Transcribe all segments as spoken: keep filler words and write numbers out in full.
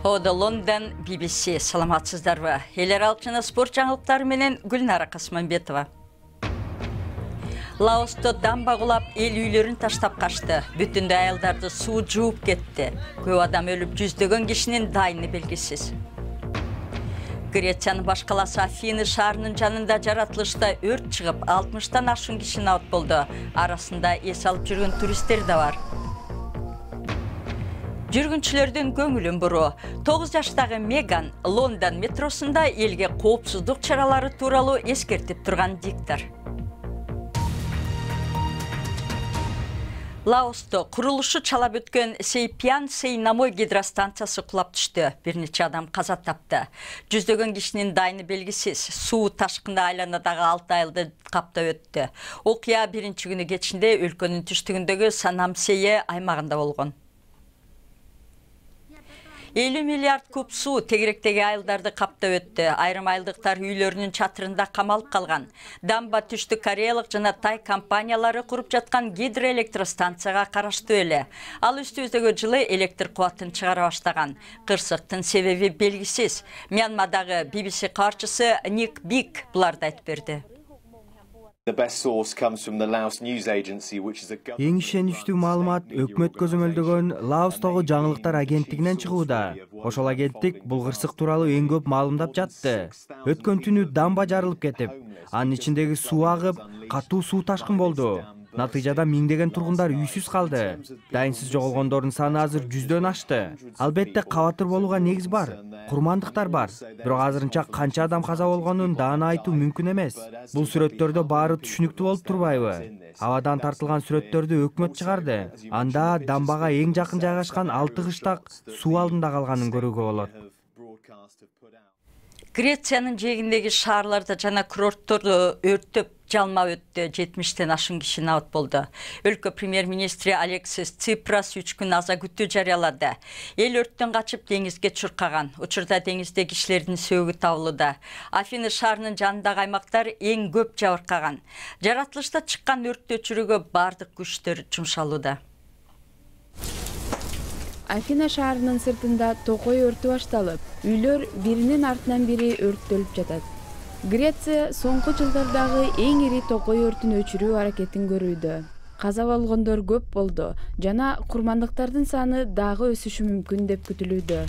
Ода Лондон би би си саламатсыздарбы. Эл аралык жана спорт жаңылыктары менен Гүлнара Касманбетова. Лаосто дамба кулап, эл үйлөрүн таштап качты. Бүтүндөй аялдарды суу жууп кетти. Көп адам өлүп, жүздөгөн кишинин дайыны белгисиз. Грециянын баш каласы Афины шаарынын жанында жаратылышта өрт чыгып, алтымыштан ашуун киши набыт болду. Арасында эс алып жүргөн туристтер да бар. Жүргүнчүлөрдүн көңүлүн буруу. тогуз жаштагы Меган Лондон метросунда элге коопсуздук чаралары тууралуу эскертип турган диктор. Лаосто курулушу чалап өткөн Сейпян Сейнамой гидростанциясы кулап түштү. Бир нече адам каза тапты. Жүздөгөн кишинин дайыны белгисиз. Суу ташкында айланадагы алты айылды каптап өттү. Окуя биринчи күнү кечинде өлкөнүн түштүгүндөгү Санамсее аймагында болгон. элүү миллиард куб суу тегеректеги айылдарды каптап өттү. Айрым айылдыктар үйлөрүнүн чатырында камалып калган. Дамба түштүк кореялык жана тай компаниялары куруп жаткан гидроэлектростанцияга караштуу эле. Ал үстүбүздөгү жылы электр кубатын чыгара баштаган. Кырсыктын себеби белгисиз. Мьянмадагы би би си кабарчысы Ник Бик буларды айтып берди. Эң ишеничтүү маалымат өкмөт көзөмөлдөгөн Лаостогу жаңылыктар агенттигинен чыгууда. Ошол агенттик бул кырсык тууралуу эң көп маалымдап жатты. Өткөн түнү дамба жарылып кетип, анын ичиндеги суу агып, катуу суу ташкын болду. Натыйжада миңдеген тургундар үйсүз калды. Дайынсыз жоголгондордун саны азыр жүздөн ашты. Албетте кабатыр болууга негиз бар. Курмандыктар бар. Бирок азырынча канча адам каза болгонун даана айтуу мүмкүн эмес. Бул сүрөттөрдө баары түшүнүктүү болуп турбайбы? Абадан тартылган сүрөттөрдү өкмөт чыгарды. Анда дамбага эң жакын жайгашкан алты кыштак суу алдында калганын көрүүгө болот. Грециянын жээгиндеги шаарларда жана курортторду өрттөп жалма өттү. жетимиштен ашуун киши набыт болду. Өлкө премьер-министри Алексис Ципрас үч күн аза күтүү жарыялады. Эл өрттөн качып деңизге чуркаган. Учурда деңизде кишилердин сөөгү табылууда. Афины шаарынын жанындагы аймактар эң көп жабыркаган. Жаратылышта чыккан өрттү өчүрүүгө бардык күчтөр жумшалууда. Афина шаарынын сыртында токой өртү башталып, үйлөр биринин артынан бири өрттөлүп жатат. Греция соңку жылдардагы эң ири токой өртүн өчүрүү аракетин көрүүдө. Каза болгондор көп болду жана курмандыктардын саны дагы өсүшү мүмкүн деп күтүлүүдө.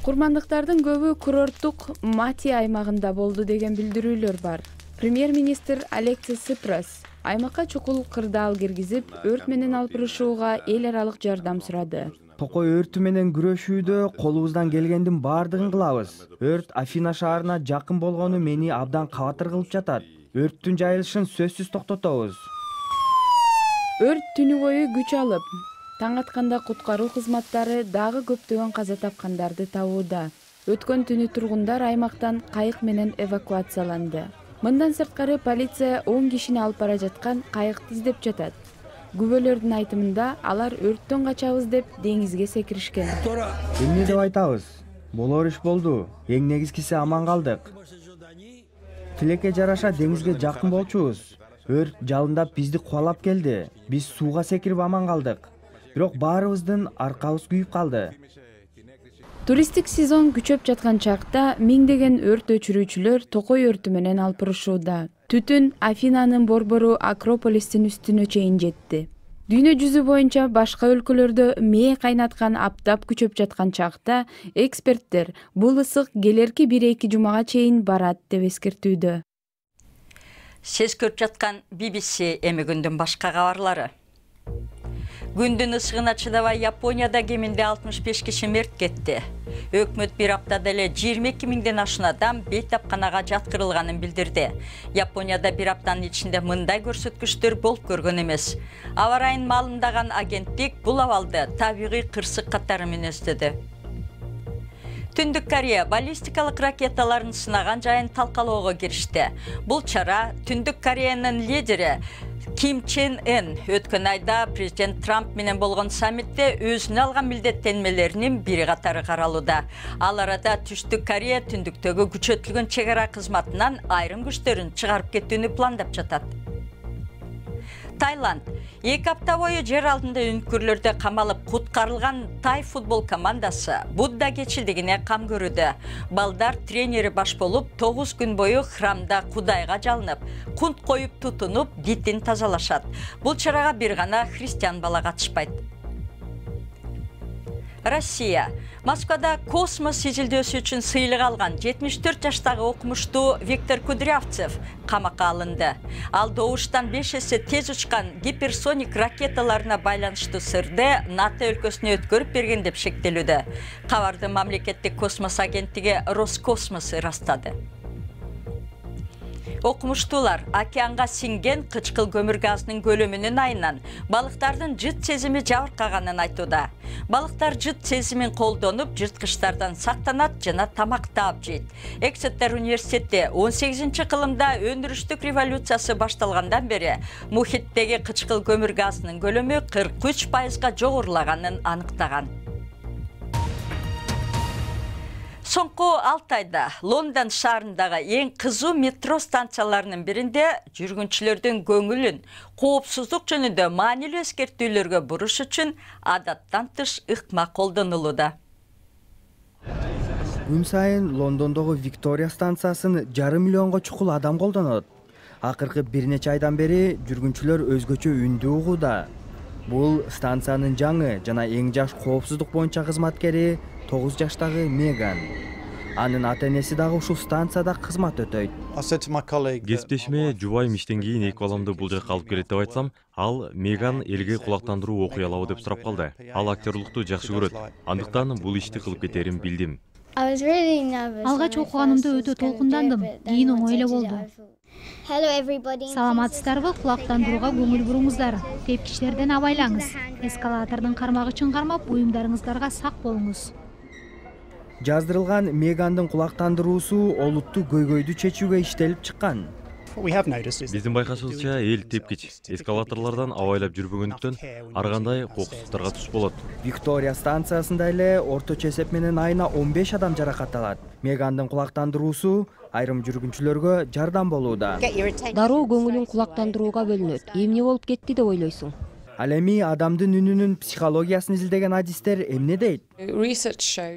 Курмандыктардын көбү курорттук Мати аймагында болду деген билдирүүлөр бар. Премьер-министр Алексис Ципрас аймакка чукул кырдаал киргизип, өрт менен алыпырышууга эл аралык жардам сурады. Токой өртү менен күрөшүүдө колубуздан келгендин баардыгын кылабыз. Өрт Афина шаарына жакын болгону мени абдан кабатыр кылып жатат. Өрттүн жайылышын сөзсүз токтотобуз. Өрт түнү бою күч алып, таң атканда куткаруу кызматтары дагы көптөгөн каза тапкандарды табууда. Өткөн түнү тургундар аймактан кайык менен эвакуацияланды. Мындан сырткары полиция он кишини алып бара жаткан кайыкты издеп жатат. Күбөлөрдүн айтымында алар өрттөн качабыз деп деңизге секиришкен. Эмне деп айтабыз? Болор иш болду. Эң негизгиси аман калдык. Тилекке жараша деңизге жакын болчубуз. Өрт жалындап бизди кубалап келди. Биз сууга секирип аман калдык. Бирок баарыбыздын аркабыз күйүп калды. Туристтик сезон күчөп жаткан чакта миңдеген өрт өчүрүүчүлөр токой өртү менен алыпырышууда. Түтүн Афинанын борбору Акрополистин үстүнө чейин жетти. Дүйнө жүзү боюнча башка өлкөлөрдө мээ кайнаткан аптап күчөп жаткан чакта эксперттер бул ысык келерки бир эки жумага чейин барат деп эскертүүдө. Сиз көрүп жаткан би би си эми күндүн башка кабарлары. Күндүн ысыгына чыдабай Японияда кеминде алтымыш беш киши мерт кетти. Өкмөт бир аптада эле жыйырма эки миңден ашуун адам бейтапканага жаткырылганын билдирди. Японияда бир аптанын ичинде мындай көрсөткүчтөр болуп көргөн эмес. Аба ырайын маалымдаган агенттик бул абалды табигый кырсык катары мүнөздөдү. Түндүк Корея баллистикалык ракеталарын сынаган жайын талкалоого киришти. Бул чара Түндүк Кореянын лидери Ким Чен Ын өткөн айда президент Трамп менен болгон саммитте өзүнө алган милдеттенмелеринин бири катары каралууда. Ал арада Түштүк Корея түндүктөгү күчөтүлгөн чек ара кызматынан айрым күчтөрүн чыгарып кетүүнү пландап жатат. Таиланд эки апта бою жер алдында үнкүрлөрдө камалып куткарылган тай футбол командасы Будда кечилдигине кам көрүүдө. Балдар тренери баш болуп, тогуз күн бою храмда Кудайга жалынып, кунт коюп тутунуп, дитин тазалашат. Бул чарага бир гана христиан бала катышпайт. Россия. Москвада космос сижилдөөсү үчүн сыйлык алган жетимиш төрт жаштагы окумуштуу Виктор Кудрявцев камакка алынды. Ал добуштан беш эсе тез учкан гиперсоник ракеталарына байланыштуу сырды НАТО өлкөсүнө өткөрүп берген деп шектелүүдө. Кабарды мамлекеттик космос агенттиги Роскосмос ырастады. Окумуштуулар океанга сиңген кычкыл көмүр газынын көлөмүнүн айынан балыктардын жыт сезими жабыркаганын айтууда. Балыктар жыт сезимин колдонуп, жырткычтардан сактанат жана тамак таап жейт. Эксетер университети он сегизинчи кылымда өндүрүштүк революциясы башталгандан бери мухиттеги кычкыл көмүр газынын көлөмү кырк үч пайызга жогорулаганын аныктаган. Соңку алты айда Лондон шаарындагы эң кызуу метро станцияларынын биринде жүргүнчүлөрдүн көңүлүн коопсуздук жөнүндө маанилүү эскертүүлөргө буруш үчүн адаттан тыш ыкма колдонулууда. Күн сайын Лондондогу Виктория станциясын жарым миллионго чукул адам колдонот. Акыркы бир нече айдан бери жүргүнчүлөр өзгөчө үндү угууда. Бул станциянын жаңы жана эң жаш коопсуздук боюнча кызматкери тогуз жаштагы Меган. Анын ата-энеси дагы ушул станцияда кызмат өтөйт. Кесиптешиме жубайым иштен кийин эки баламды бул жакка алып келет деп айтсам, ал Меган элге кулактандыруу окуй алабы деп сурап калды. Ал актерлукту жакшы көрөт. Андыктан бул ишти кылып кетерин билдим. Алгач окуганымда өтө толкундандым, кийин оңой эле болду. Саламатсыздарбы, кулактандырууга көңүл буруңуздар. Тепкичтерден абайлаңыз. Эскалатордун кармагычын кармап, буюмдарыңыздарга сак болуңуз. Жаздырылган Мегандын кулактандыруусу олуттуу көйгөйдү чечүүгө иштелип чыккан. Биздин байкашыбызча, эл тепкич эскалаторлордон абайлап жүрбөгөндүктөн ар кандай коопсуздуктарга туш болот. Виктория станциясында эле орточо эсеп менен айына он беш адам жаракат алат. Мегандын кулактандыруусу айрым жүргүнчүлөргө жардам болууда. Дароо көңүлүң кулактандырууга бөлүнөт. Эмне болуп кетти деп ойлойсуң? Ал эми адамдын үнүнүн психологиясын изилдеген адистер эмне дейт?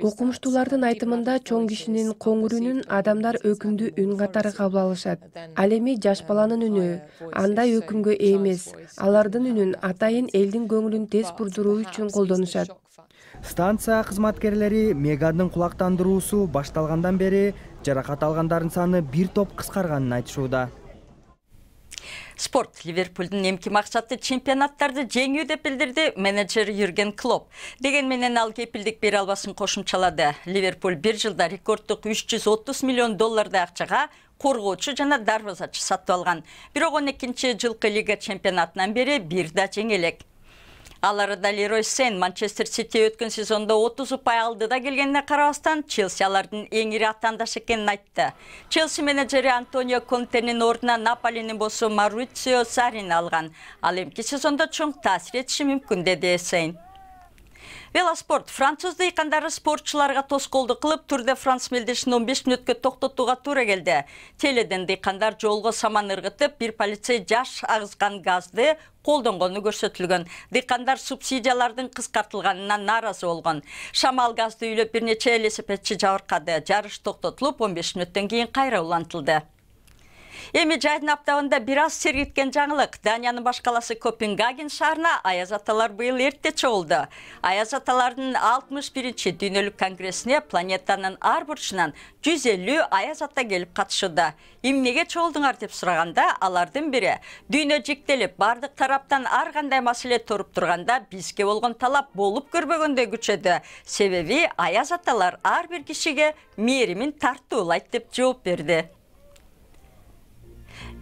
Окумуштуулардын айтымында чоң кишинин коңур үнүн адамдар өкүмдүү үн катары кабыл алышат. Ал эми жаш баланын үнү андай өкүмгө ээ эмес. Алардын үнүн атайын элдин көңүлүн тез бурдуруу үчүн колдонушат. Станция кызматкерлери Мегандын кулактандыруусу башталгандан бери жаракат алгандардын саны бир топ кыскарганын айтышууда. Спорт. Ливерпулдун эмки максаты чемпионаттарды жеңүү деп билдирди менеджер Юрген Клоп. Деген менен ал кепилдик бере албасын кошумчалады. Ливерпуль бир жылда рекорддук үч жүз отуз миллион доллардай акчага коргоочу жана дарбазачы сатып алган. Бирок он экинчи жылкы лига чемпионатынан бери бир да жеңе элек. Ал арада Лерой Сейн Манчестер Сити өткөн сезондо отуз упай алдыда келгенине карабастан, Челси алардын эң ири атаандашы экенин айтты. Челси менеджери Антонио Контенин ордуна Наполинин боссу Маурицио Саррини алган. Ал эмки сезондо чоң таасир этиши мүмкүн, деди Сейн. Велоспорт. Француз дыйкандары спортчуларга тоскоолдук кылып, Тур де Франс мелдешин он беш мүнөткө токтотууга туура келди. Теледен дыйкандар жолго саман ыргытып, бир полицей жаш агызган газды колдонгону көрсөтүлгөн. Дыйкандар субсидиялардын кыскартылганына нааразы болгон. Шамал газды үйлөп бир нече велосипедчи жабыркады. Жарыш токтотулуп, он беш мүнөттөн кийин кайра улантылды. Эми жайдын аптабында бир аз сергиткен жаңылык. Даниянын баш каласы Копенгаген шаарына аяз аталар быйыл эрте чогулду. Аяз аталардын алтымыш биринчи дүйнөлүк конгрессине планетанын ар бурчунан жүз элүү аяз ата келип катышууда. Эмнеге чогулдуңар деп сураганда, алардын бири дүйнө жиктелип, бардык тараптан ар кандай маселе туруп турганда бизге болгон талап болуп көрбөгөндөй күчөдү. Себеби аяз аталар ар бир кишиге мээримин тартуулайт деп жооп берди.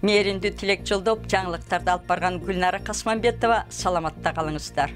Мээримдүү тилек жолдоп, жаңылыктарды алып барган Гүлнара Касманбетова, саламатта калыңыздар.